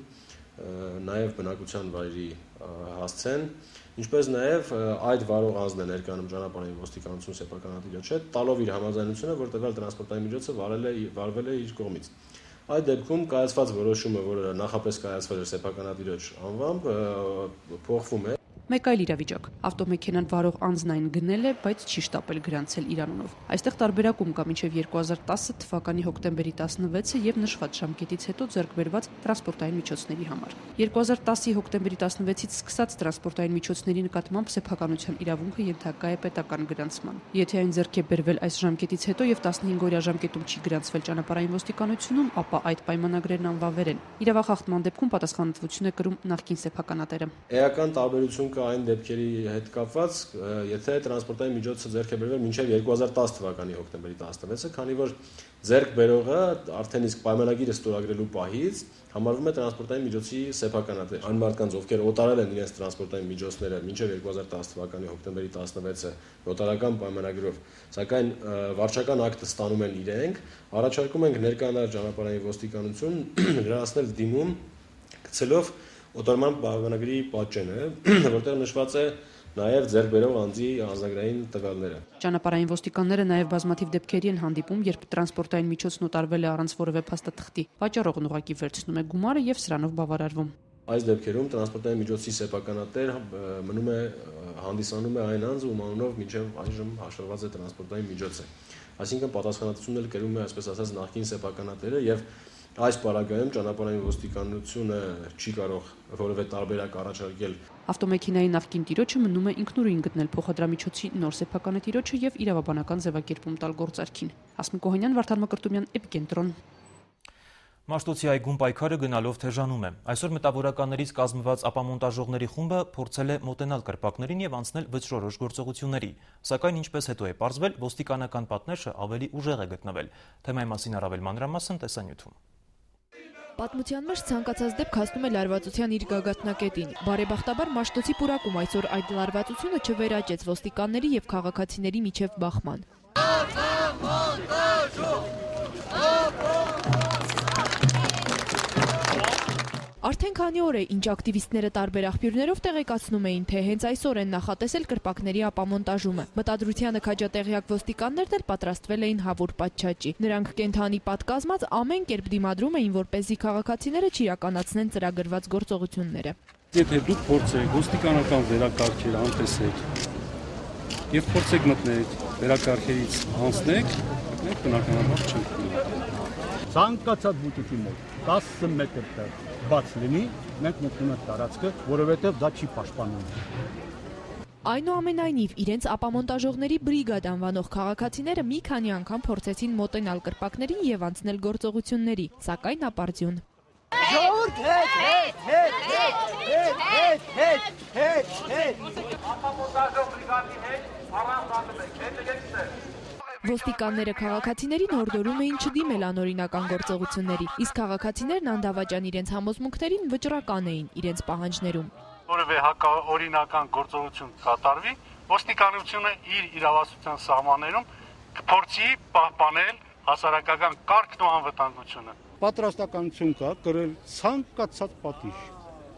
նաև բնակության վայրի հասցեն, ինչպես նաև այդ վարող անձն է ներկայանում ճանապարհային ոստիկանություն սեփականատիրոջ հետ, տալով իր համաձայնությունը, որ տվյալ տրանսպորտային միջոցը վարել է վարվել է իր կողմից։ Այդ դեպքում կայացված որոշումը, որը նախապես կայացվել էր սեփականատիրոջ անվամբ, փոխվում է։ Մեկ այլ իրավիճակ։ Ավտոմեքենան վարող անձն այն գնել է, բայց չի շտապել գրանցել իր անունով։ Այստեղ տարբերակում կա մինչև երկու հազար տասը թվականի հոկտեմբերի տասնվեցը եւ նշված ժամկետից հետո ձեռք բերված տրանսպորտային միջոցների համար։ երկու հազար տասի հոկտեմբերի տասնվեցից սկսած տրանսպորտային միջոցների նկատմամբ սեփականության իրավունքը ենթակա է պետական գրանցման։ Եթե այն ձեռք է բերվել այս ժամկետից հետո եւ տասնհինգ օրյա ժամկետում չի գրանցվել ճանապարհային ոստիկանությունում, ապա այդ պայմանագրերն անվավեր են։ Իրավախախտման դեպքում պատասխանատվություն է կրում նախկին սեփականատերը։ Էական տարբերություն այն դեպքերի հետ կապված, եթե տրանսպորտային միջոցը ձեռք է բերվել մինչև երկու հազար տասը թվականի հոկտեմբերի տասնվեցը, քանի որ ձեռք բերողը արդեն իսկ պայմանագիրը ստորագրելու պահից համարվում է տրանսպորտային միջոցի սեփականատեր։ Այն մարդկանց, ովքեր օտարել են իրենց տրանսպորտային միջոցները մինչև երկու հազար տասը թվականի հոկտեմբերի տասնվեցը օտարական պայմանագրով, սակայն վարչական ակտը ստանում են իրենք, առաջարկում ենք ներկայանալ ճանապարհային ոստիկանություն լրացնել դիմում գցելով օտարման պայմանագրի պատճենը, որտեղ նշված է նաև ձեռք բերող անձի անձնագրային տվյալները։ Ճանապարհային ոստիկանները նաև բազմաթիվ դեպքերի են հանդիպում, երբ տրանսպորտային միջոցն օտարվել է առանց որևէ փաստաթղթի։ Վաճառողն ուղղակի վերցնում է գումարը եւ սրանով բավարարվում։ Այս դեպքերում տրանսպորտային միջոցի սեփականատեր մնում է հանդիսանում է այն անձը, ում անունով մինչև այժմ հաշվված է տրանսպորտային միջոցը։ Այսինքն պատասխանատվությունն էլ կրում է, այսպես ասած, նախկին սեփականատերը եւ այս պարագայում ճանապարհային ոստիկանությունը չի կարող որևէ տարբերակ առաջարկել։ Ավտոմեքենայի նախկին տիրոջը մնում է ինքնուրույն գտնել փոխադրամիջոցի նոր սեփականատիրոջը եւ իրավաբանական ձևակերպում տալ գործարքին։ Հասմիկ Օհանյան, Վարդան Մկրտումյան, Էպիկենտրոն։ Մաշտոցի այգում պայքարը գնալով թեժանում է։ Այսօր մտավորականներից կազմված ապամոնտաժողների խումբը փորձել է մոտենալ կրպակներին եւ անցնել վճռորոշ գործողությունների, սակայն ինչպես հետո է պարզվել, ոստիկանական պատնեշը ավելի ուժեղ է գտնվել։ Թեմայի մասին առավել մանրամասն տեսանյութում։ Պատմության մեջ ցանկացած դեպք հասնում է լարվածության իր գագաթնակետին։ Բարեբախտաբար Մաշտոցի պուրակում այսօր այդ լարվածությունը չվերաճեց ոստիկանների եւ քաղաքացիների միջև բախման։ Արդեն քանի օր է, ինչ ակտիվիստները տարբեր աղբյուրներով տեղեկացնում էին, թե հենց այսօր են նախատեսել կրպակների ապամոնտաժումը։ Մտադրությանը քաջատեղյակ ոստիկաններն էլ պատրաստվել էին հավուր պատշաճի։ Նրանք կենթանի պատկազմած ամեն կերպ դիմադրում էին, որպեսզի քաղաքացիները չիրականացնեն ծրագրված գործողությունները։ Եթե դուք փորձեք ոստիկանական վերակարգերը անտեսեք եւ փորձեք մտնել վերակարգերից անցնեք, մենք բնականաբար չենք ունենա։ Ցանկացած բուտիկի մոտ տասը մետր տեղ բաց լինի, մենք մտնում ենք տարածքը, որովհետև դա չի պաշտպանում։ Այնուամենայնիվ, իրենց ապամոնտաժողների բրիգադ անվանող քաղաքացիները մի քանի անգամ փորձեցին մոտենալ կրպակներին եւ անցնել գործողությունների, սակայն ապարդյուն։ Ժողովուրդ հետ, հետ, հետ, հետ, հետ, հետ, հետ, հետ։ Ապամոնտաժող բրիգադի հետ առանց անդրեք, հետ եկեք։ Ոստիկանները քաղաքացիներին հորդորում էին չդիմել անօրինական գործողությունների, իսկ քաղաքացիներն անդավաճան իրենց համոզմունքներին վճռական էին իրենց պահանջներում։ Որևէ հակաօրինական գործողություն կատարվի, ոստիկանությունը իր իրավասության սահմաններում կփորձի պահպանել հասարակական կարգն ու անվտանգությունը։ Պատրաստականություն կա կրել ցանկացած պատիժ,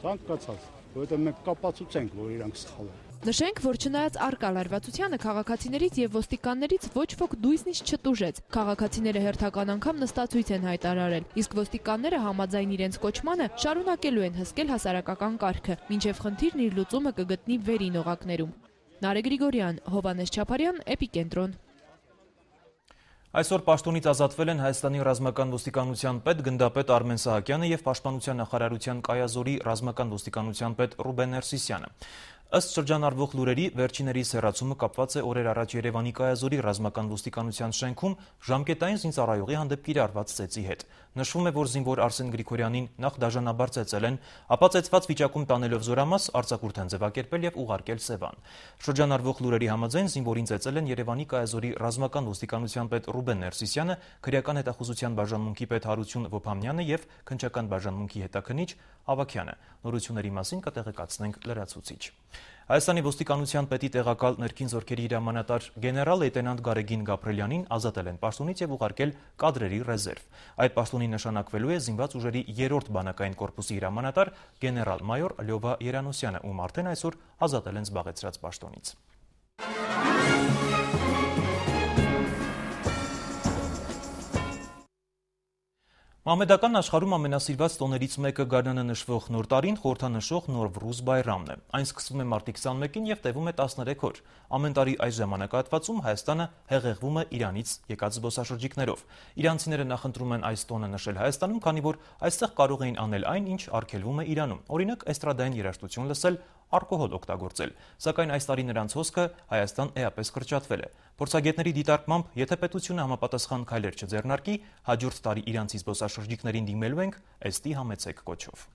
ցանկացած, որովհետև մենք կապացուցենք, որ իրանք սխալ են։ Նշենք, որ չնայած առկա լարվածությանը քաղաքացիներից եւ ոստիկաններից ոչ ոք դույսնից չտուժեց։ Քաղաքացիները հերթական անգամ նստածույց են հայտարարել, իսկ ոստիկանները համաձայն իրենց կոչմանը շարունակելու են հսկել հասարակական կարգը, մինչեւ խնդիրն իր լուծումը կգտնի վերին օղակներում։ Նարեկ Գրիգորյան, Հովհաննես Չապարյան, Էպիկենտրոն։ Այսօր պաշտոնից ազատվել են Հայաստանի ռազմական ոստիկանության պետ գնդապետ Արմեն Սահակյանը եւ Պաշտպանության նախարարության Կայազորի ռազմական ոստիկանության պետ Ռուբեն Ներսիսյանը։ Ըստ շրջանառվող լուրերի, վերջիներիս հեռացումը կապված է օրեր առաջ Երևանի Կայազորի ռազմական ոստիկանության շենքում ժամկետային զինծառայողի հանդեպ կիրառված ծեծի հետ։ Նշվում է, որ զինվոր Արսեն Գրիգորյանին նախ դաժանաբար ծեծել են, ապա ծեծված վիճակում տանելով զորամաս արձակուրդ են ձևակերպել եւ ուղարկել Սևան։ Շրջանառվող լուրերի համաձայն զինվորին ծեծել են Երևանի Կայազորի ռազմական ոստիկանության պետ Ռուբեն Ներսիսյանը, քրեական հետախուզության բաժանմունքի պետ Հարություն Ոփամյանը եւ քննչական բաժանմունքի հետաքննիչ Ավաքյանը։ Նորությունների մասին կտեղեկացնենք լրացուցիչ։ Հայաստանի ոստիկանության պետի տեղակալ ներքին զորքերի հրամանատար գեներալ լեյտենանտ Գարեգին Գաբրելյանին ազատել են պաշտոնից եւ ուղարկել կադրերի ռեզերվ։ Այդ պաշտոնին նշանակվելու է զինված ուժերի երրորդ բանակային կորպուսի հրամանատար գեներալ մայոր Լյովա Երանոսյանը, ում արդեն այսօր ազատել են զբաղեցրած պաշտոնից։ Մահմեդական աշխարհում ամենասիրված տոներից մեկը գարնանը նշվող նոր տարին խորհրդանշող Նովրուզ Բայրամն է։ Այն սկսվում է մարտի քսաներկին եւ տևում է տասներեք օր։ Ամեն տարի այս ժամանակահատվածում Հայաստանը հեղեղվում է Իրանից եկած զբոսաշրջիկներով։ Իրանցիները նախընտրում են այս տոնը նշել Հայաստանում, քանի որ այստեղ կարող էին անել այն, ինչ արգելվում է Իրանում։ Օրինակ, էստրադային երաժշտություն լսել, ալկոհոլ օգտագործել, սակայն այս տարի նրանց հոսքը Հայաստան էապես կրճատվել է։ Փորձագետների դիտարկմամբ, եթե պետությունը համապատասխան քայլեր չձեռնարկի, հաջորդ տարի իրանցի զբոսաշրջիկներին դիմելու ենք «Էստի համեցեք» կոչով։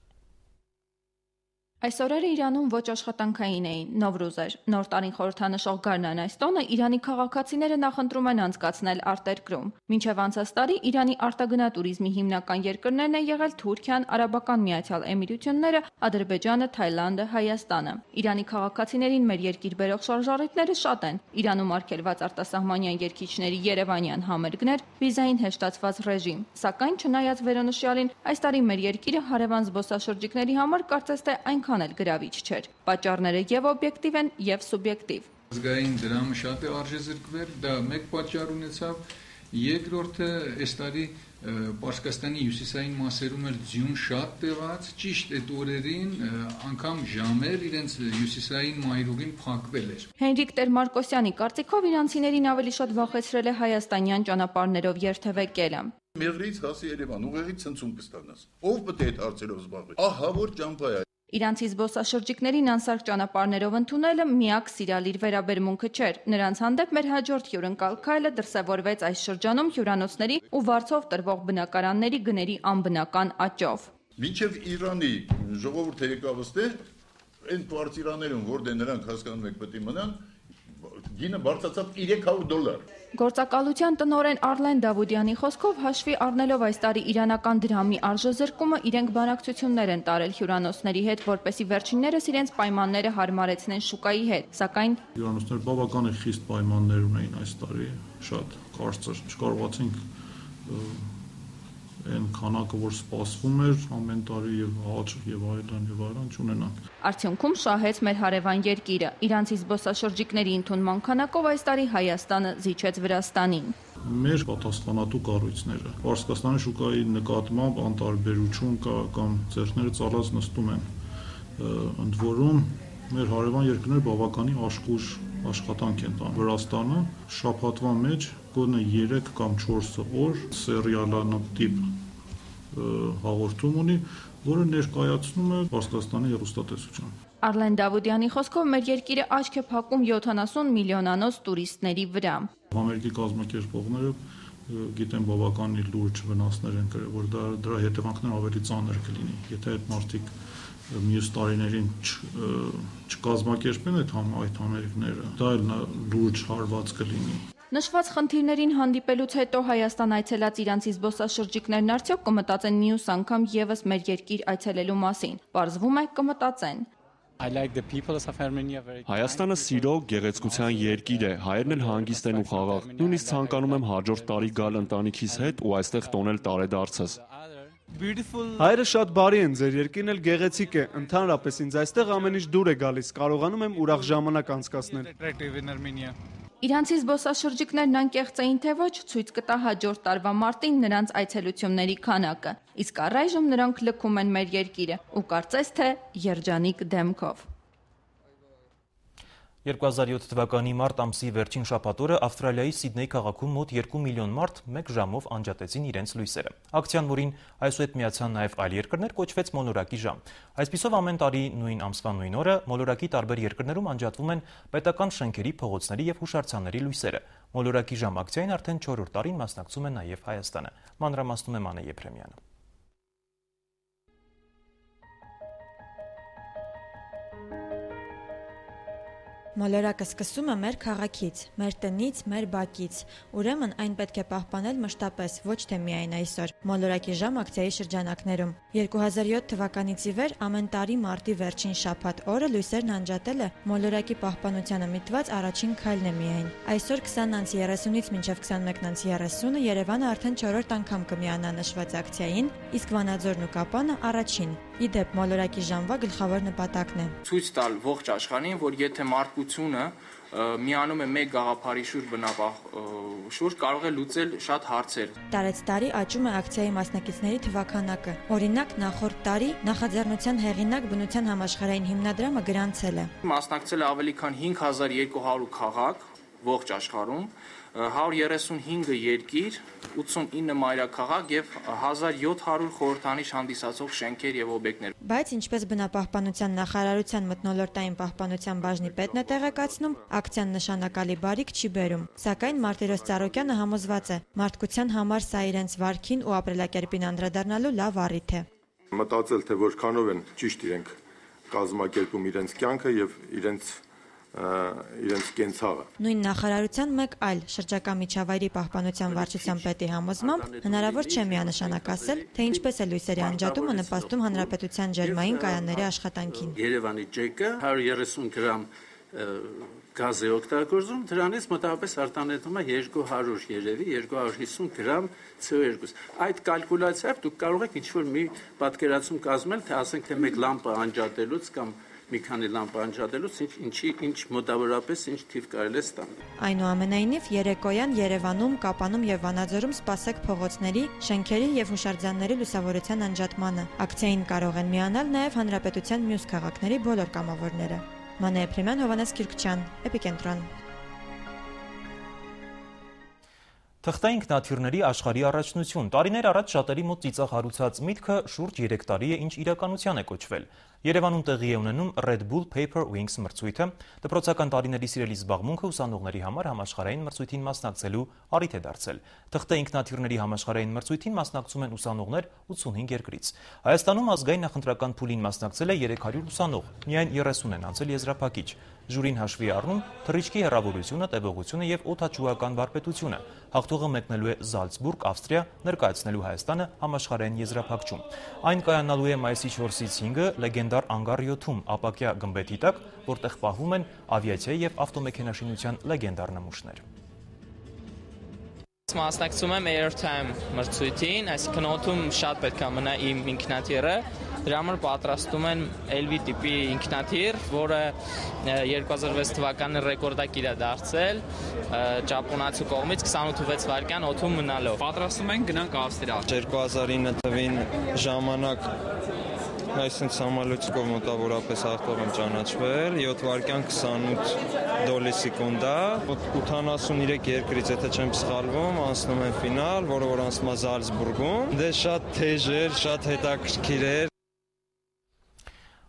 Այս օրերը Իրանում ոչ աշխատանքային էին, Նովրուզ էր։ Նոր տարին խորհրդանշող գարնան այս տոնը Իրանի քաղաքացիները նախընտրում են անցկացնել արտերկրում։ Մինչև անցած տարի Իրանի արտագնատուրիզմի հիմնական երկրներն են եղել Թուրքիան, Արաբական Միացյալ Էմիրությունները, Ադրբեջանը, Թայլանդը, Հայաստանը։ Իրանի քաղաքացիներին մեր երկիր բերող շարժառիթները շատ են։ Իրանում արգելված արտասահմանյան երգիչների երևանյան համերգներ, վիզային հեշտացված ռեժիմ։ Սակայն չնայած վերոնշյալին, այս տարի մեր երկիրը հարևան զբոսաշրջիկների համար կարծես թե այնքան էլ գրավիչ չէր։ Պատճառները եւ օբյեկտիվ են, եւ սուբյեկտիվ։ Ազգային դրամը շատ է արժեզրկվել, դա մեկ պատճառ ունեցավ, երկրորդը այս տարի Պարսկաստանի հյուսիսային մասերում էլ ձյուն շատ տեղաց, ճիշտ այդ օրերին անգամ ժամեր իրենց հյուսիսային մայրուղին փակվել էր։ Հենրիկ Տեր-Մարկոսյանի կարծիքով իրանցիներին ավելի շատ վախեցրել է հայաստանյան ճանապարհներով երթևեկելը։ Մեղրից հասի Երևան, ուղեղի ցնցում կստանաս։ Ով պետք է այդ հարցերով զբաղվի։ Ահա որ ճամփա է։ Իրանցի զբոսաշրջիկներին անսարք ճանապարհներով ընդունելը միակ սիրալիր վերաբերմունքը չէր։ Նրանց հանդեպ մեր հաջորդ հյուրընկալ քայլը դրսևորվեց այս շրջանում հյուրանոցների ու վարձով տրվող բնակարանների գների անբնական աճով։ Մինչև Իրանի ժողովուրդը եկավ ստե, այն կվարտիրաներում, որտեղ նրանք հասկանում եք պետք է մնան, գինը բարձրացավ երեք հարյուր դոլար։ Գործակալության տնօրեն Արլեն Դավուդյանի խոսքով հաշվի առնելով այս տարի իրանական դրամի արժեզրկումը, իրենք բանակցություններ են տարել հյուրանոցների հետ, որպեսզի վերջիններս իրենց պայմանները հարմարեցնեն շուկայի հետ, սակայն հյուրանոցները բավական խիստ պայմաններ ունեին այս տարի, շատ կարծր, չկարողացինք այն քանակը, որ սպասվում էր ամեն տարի եւ աճ եւ այլն եւ այլն չունենանք։ Արդյունքում շահեց մեր հարևան երկիրը։ Իրանցի զբոսաշրջիկների ընդունման քանակով այս տարի Հայաստանը զիջեց Վրաստանին։ Մեր պատասխանատու կառույցները Պարսկաստանի շուկայի նկատմամբ անտարբերություն կա կամ ձեռքները ծալած նստում են։ Ընդ որում մեր հարևան երկրները բավականին աշխուժ աշխատանք են տանում։ Վրաստանը շաբաթվա մեջ գոնե երեք կամ չորս օր սերիալանտիպ հաղորդում ունի, որը ներկայացնում է Պարսկաստանի հեռուստատեսության։ Արլեն Դավուդյանի խոսքով մեր երկիրը աչք է փակում յոթանասուն միլիոնանոց տուրիստների վրա։ Ամերիկի կազմակերպողները գիտեն բավականին լուրջ վնասներ են կրել, որ դա դրա հետևանքները ավելի ծանր կլինի, եթե այդ մարդիկ մյուս տարիներին չկազմակերպեն այդ այդ համերգները, դա էլ լուրջ հարված կլինի։ Նշված խնդիրներին հանդիպելուց հետո Հայաստան այցելած իրանցի զբոսաշրջիկներն արդյոք կմտածեն մյուս անգամ եւս մեր երկիր այցելելու մասին։ Պարզվում է կմտածեն։ Հայաստանը սիրո, գեղեցկության երկիր է, հայերն էլ հանգիստ են ու խաղաղ։ Նույնիսկ ցանկանում եմ հաջորդ տարի գալ ընտանիքիս հետ ու այստեղ տոնել տարեդարձս։ Հայերը շատ բարի են, ձեր երկիրն էլ գեղեցիկ է, ընդհանրապես ինձ այստեղ ամեն ինչ դուր է գալիս, կարողանում եմ ուրախ ժամանակ անցկացնել։ Իրանցի զբոսաշրջիկներն անկեղծ էին թե ոչ, ցույց կտա հաջորդ տարվա մարտին նրանց այցելությունների քանակը, իսկ առայժմ նրանք լքում են մեր երկիրը ու կարծես թե երջանիկ դեմքով։ երկու հազար յոթ թվականի մարտ ամսի վերջին շաբաթօրը Ավստրալիայի Սիդնեյ քաղաքում մոտ երկու միլիոն մարդ մեկ ժամով անջատեցին իրենց լույսերը։ Ակցիան, որին այսուհետ միացան նաև այլ երկրներ, կոչվեց մոլորակի ժամ։ Այսպիսով ամեն տարի նույն ամսվա նույն օրը մոլորակի տարբեր երկրներում անջատվում են պետական շենքերի, փողոցների եւ հուշարձանների լույսերը։ Մոլորակի ժամ ակցիային արդեն չորրորդ տարին մասնակցում է նաև Հայաստանը։ Մանրամասնում է Մանե Եփրեմյանը։ Մոլորակը սկսում է մեր քաղաքից, մեր տնից, մեր բակից, ուրեմն այն պետք է պահպանել մշտապես, ոչ թե միայն այսօր։ Մոլորակի ժամ ակցիայի շրջանակներում երկու հազար յոթ թվականից ի վեր ամեն տարի մարտի վերջին շաբաթ օրը լույսերն անջատելը մոլորակի պահպանությանը միտված առաջին քայլն է միայն։ Այսօր քսան երեսունից մինչև քսանմեկ երեսունը Երևանը արդեն չորրորդ անգամ կմիանա նշված ակցիային, իսկ Վանաձորն ու Կապանը առաջին։ Ի դեպ, մոլորակի ժամվա գլխավոր նպատակն է ցույց տալ ողջ աշխարհին, որ եթե մարդկությունը միանում է մեկ գաղափարի շուրջ բնապահ շուրջ կարող է լուծել շատ հարցեր։ Տարեց տարի աճում է ակցիայի մասնակիցների թվականակը։ Օրինակ, նախորդ տարի նախաձեռնության հեղինակ բնության համաշխարհային հիմնադրամը գրանցել է։ Մասնակցել է ավելի քան հինգ հազար երկու հարյուր քաղաք ողջ աշխարհում, հարյուր երեսունհինգ երկիր, ութսունինը մայրաքաղաք եւ հազար յոթ հարյուր խորհրդանիշ հանդիսացող շենքեր եւ օբյեկտներ։ Բայց ինչպես բնապահպանության նախարարության մթնոլորտային պահպանության բաժնի պետն է տեղեկացնում, ակցիան նշանակալի բարիք չի բերում։ Սակայն Մարտիրոս Ծառուկյանը համոզված է, մարդկության համար սա իրենց վարքին ու ապրելակերպին անդրադառնալու լավ առիթ է։ Մտածել, թե որքանով են ճիշտ իրենք կազմակերպում իրենց կյանքը եւ իրենց իրենց կենցաղը։ Նույն նախարարության մեկ այլ շրջակա միջավայրի պահպանության վարչության պետի համոզմամբ հնարավոր չէ միանշանակ ասել, թե ինչպես է լույսերի անջատումը նպաստում հանրապետության ջերմային կայանների աշխատանքին։ Երևանի ջեկը հարյուր երեսուն գրամ գազ է օգտագործում, դրանից մոտավորապես արտանետում է երկու հարյուր երևի երկու հարյուր հիսուն գրամ C O two։ Այդ կալկուլյացիայով դուք կարող եք ինչ-որ մի պատկերացում կազմել, թե ասենք թե մեկ լամպը անջատելուց կամ մի քանի լամպ անջատելուց ինչի ինչ մոտավորապես ինչ թիվ կարելի է ստանալ։ Այնուամենայնիվ երեկոյան Երևանում, Կապանում եւ Վանաձորում սպասեք փողոցների, շենքերի եւ հուշարձանների լուսավորության անջատմանը։ Ակցիային կարող են միանալ նաեւ հանրապետության մյուս քաղաքների բոլոր կամավորները։ Մանե Եփրեմյան, Հովանես Քիրքչյան, Էպիկենտրոն։ Թղթային ինքնաթիռների աշխարհի առաջնություն։ Տարիներ առաջ շատերի մոտ ծիծաղ հարուցած միտքը շուրջ երեք տարի է ինչ իրականության է կոչվել։ Երևանում տեղի է ունենում Red Bull Paper Wings մրցույթը, դպրոցական տարիների սիրելի զբաղմունքը ուսանողների համար համաշխարհային մրցույթին մասնակցելու առիթ է դարձել։ Թղթե ինքնաթիռների համաշխարհային մրցույթին մասնակցում են ուսանողներ ութսունհինգ երկրից։ Հայաստանում ազգային նախընտրական փուլին մասնակցել է երեք հարյուր ուսանող, միայն երեսուն են անցել եզրափակիչ։ Ժյուրին հաշվի առնում թռիչքի հեռավորությունը, տևողությունը եւ օդաչուական վարպետությունը։ Հաղթողը մեկնելու է Զալցբուրգ, Ավստրիա, ներկայացնելու Հայաստանը համաշխարհային եզրափակչում։ Այն կայանալու է մայիսի չորսից հինգը լեգենդար Անգար յոթում ապակյա գմբեթի տակ, որտեղ պահվում են ավիացիայի եւ ավտոմեքենաշինության լեգենդար նմուշներ։ Մասնակցում եմ Airtime մրցույթին, այսինքն օդում շատ պետք է մնա իմ ինքնաթիռը, դրա համար պատրաստում են L V տիպի ինքնաթիռ, որը երկու հազար վեց թվականին ռեկորդակիր է դարձել ճապոնացու կողմից քսանութ ու վեց վայրկյան օդում մնալով։ Պատրաստում են գնանք Ավստրիա։ երկու հազար ինը թվին ժամանակ այսինքն համալույցկով մոտավորապես հաղթող եմ ճանաչվել, յոթ վայրկյան քսանութ դոլի սեկունդա, ութանասուններեք երկրից, եթե չեմ սխալվում, անցնում են ֆինալ, որը որ անցնում է Զալցբուրգում։ Դե շատ թեժ էր, շատ հետաքրքիր էր։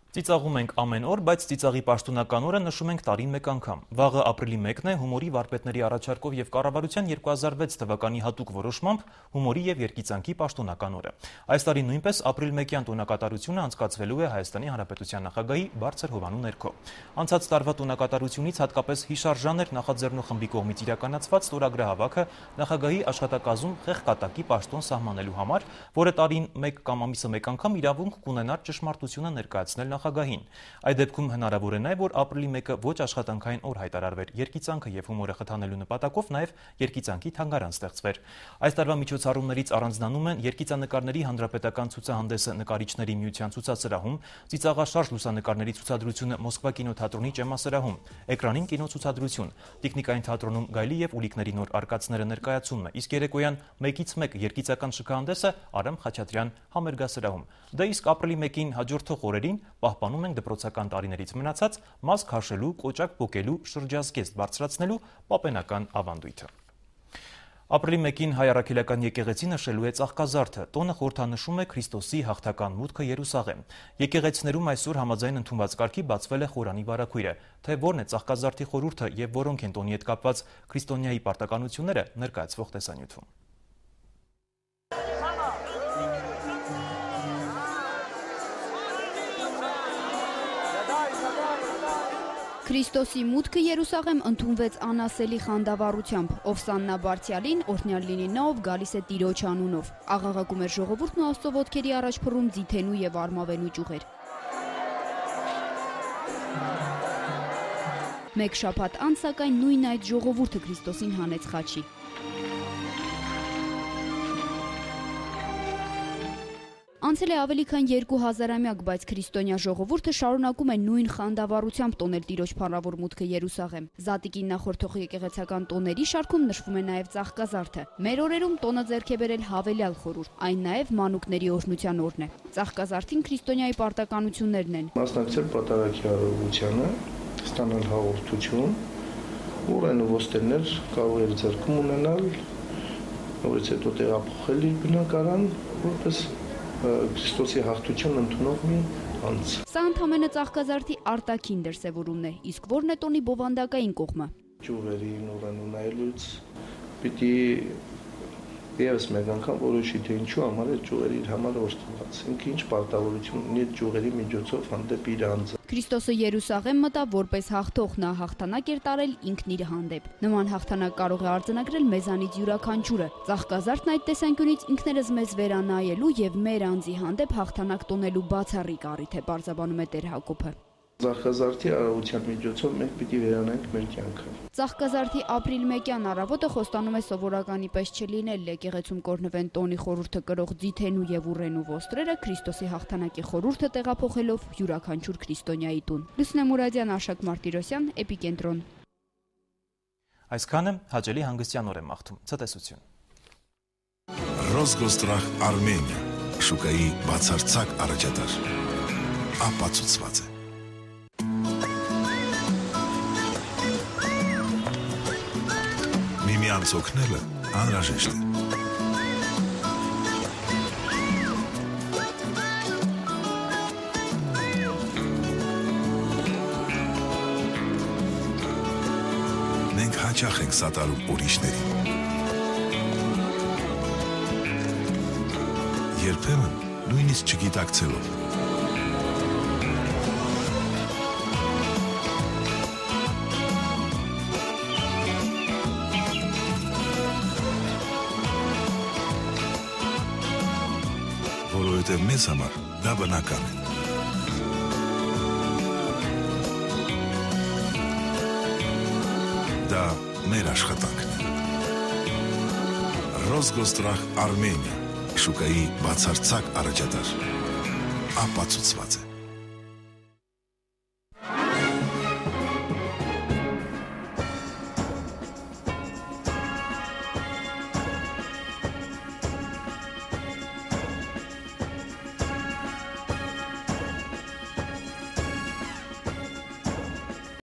Ծիծաղում ենք ամեն օր, բայց ծիծաղի պաշտոնական օրը նշում ենք տարին մեկ անգամ։ Վաղը ապրիլի մեկն է հումորի վարպետների առաջարկով եւ կառավարության երկու հազար վեց թվականի հատուկ որոշմամբ հումորի եւ երգիծանքի պաշտոնական օրը։ Այս տարի նույնպես ապրիլ մեկյան տոնակատարությունը անցկացվելու է Հայաստանի Հանրապետության նախագահի բարձր հովանու ներքո։ Անցած տարվա տոնակատարությունից հատկապես հիշարժան էր նախաձեռնող խմբի կողմից իրականացված ստորագրահավաքը նախագահի աշխատակազմում խեղկատակի պաշտոն սահմանելու համար, որը տարին մեկ կամ ամիսը մեկ անգամ իրավունք կունենար ճշմարտությունը ներկայացնել նախագահին։ Այդ դեպքում հնարավոր է նաև, որ ապրիլի մեկը ոչ աշխատանքային օր հայտարարվեր, երգիծանքը եւ հումորը խթանելու նպատակով նաև երգիծանքի թանգարան ստեղծվեր։ Այս տարվա միջոցառումներից առանձնանում են երգիծանկարների հանրապետական ցուցահանդեսը նկարիչների միության ցուցասրահում, ծիծաղաշարժ լուսանկարների ցուցադրությունը Մոսկվա կինոթատրոնի ճեմասրահում, էկրանին կինոցուցադրություն, Տիկնիկային թատրոնում գայլի եւ ուլիկների նոր արկածները ներկայացումը, իսկ երեկոյան մեկից մեկ երգիծական շքահանդեսը Արամ Խաչատրյան համերգասրահում։ Դա իսկ ապրիլի մեկին հաջորդող օրերին պահպանում ենք դպրոցական տարիներից մնացած մաս քաշելու, կոճակ պոկելու, շրջազգեստ բարձրացնելու պապենական ավանդույթը։ Ապրիլի մեկին հայ առաքելական եկեղեցի նշելու է ծաղկազարդը, տոնը խորհրդանշում է Քրիստոսի հաղթական մուտքը Երուսաղեմ։ Եկեղեցիներում այսօր համաձայն ընդունված կարգի բացվել է խորանի վարագույրը, թե որն է ծաղկազարդի խորհուրդը եւ որոնք են տոնի հետ կապված քրիստոնյայի պարտականությունները ներկայացվող տեսանյութում։ Քրիստոսի մուտքը Երուսաղեմ ընդունվեց անասելի խանդավառությամբ, ով Սաննա Բարձյալին, օրհնյալ լինի նա, ով գալիս է Տիրոջ անունով։ Աղաղակում էր ժողովուրդն ու Աստծո ոտքերի առաջ փռում ձիթենու եւ արմավենու ճյուղեր։ Մեկ շաբաթ անց սակայն նույն այդ ժողովուրդը Քրիստոսին հանեց խաչի։ Անցել է ավելի քան երկու հազարամյակ, բայց քրիստոնյա ժողովուրդը շարունակում է նույն խանդավառությամբ տոնել Տիրոջ փառավոր մուտքը Երուսաղեմ։ Զատիկին նախորդող եկեղեցական տոների շարքում նշվում է նաև ծաղկազարդը։ Մեր օրերում տոնը ձեռք է բերել հավելյալ խորհուրդ, այն նաև մանուկների օրհնության օրն է։ Ծաղկազարդին քրիստոնյայի պարտականություններն են. Մասնակցել պատարագի արարողությանը, ստանալ հաղորդություն, ուրեն ու ոստերներ կարող էր ձեռքում ունենալ, որից հետո տեղափոխել իր բնակարան, որպես Քրիստոսի հաղթություն ընդունող մի անձ։ Սա ընդամենը ծաղկազարդի արտաքին դրսևորումն է, իսկ որն է տոնի բովանդակային կողմը։ Ճյուղերին ուրեն ունայելուց պիտի եւս մեկ անգամ որոշի, թե ինչու համար է ճյուղերը իր համար օժտված, ինքը ինչ պարտավորություն ունի ճյուղերի միջոցով հանդեպ իր անձը։ Քրիստոսը Երուսաղեմ մտավ որպես հաղթող, նա հաղթանակ էր տարել ինքն իր հանդեպ։ Նման հաղթանակ կարող է արձանագրել մեզանից յուրաքանչյուրը։ Ծաղկազարդն այդ տեսանկյունից ինքներս մեզ վերանայելու եւ մեր անձի հանդեպ հաղթանակ տոնելու բացառիկ առիթ է, բարձաբանում է Տեր Հակոբը։ Ծաղկազարդի արարողության միջոցով մենք պիտի վերանայենք մեր կյանքը։ Ծաղկազարդի ապրիլ մեկյան առավոտը խոստանում է սովորականի պես չլինել, եկեղեցում կօրհնվեն տոնի խորհուրդը կրող ձիթենու եւ ուռենու ոստրերը, Քրիստոսի հաղթանակի խորհուրդը տեղափոխելով յուրաքանչյուր քրիստոնյայի տուն։ Լուսնե Մուրադյան, Աշակ Մարտիրոսյան, Էպիկենտրոն։ Այսքանը հաճելի հանգստյան օր եմ մաղթում։ Ցտեսություն։ Ռոսգոստրախ Արմենիա, շուկայի բացարձակ առաջատար, ապացուցված է։ Միմյանց օգնելը անհրաժեշտ է։ հաճախ ենք սատարում ուրիշներին։ Երբեմն նույնիսկ չգիտակցելով։ Որովհետև մեզ համար դա բնական է։ Դա մեր աշխատանքն է։ Ռոսգոստրախ Արմենիա, շուկայի բացարձակ առաջատար, ապացուցված է։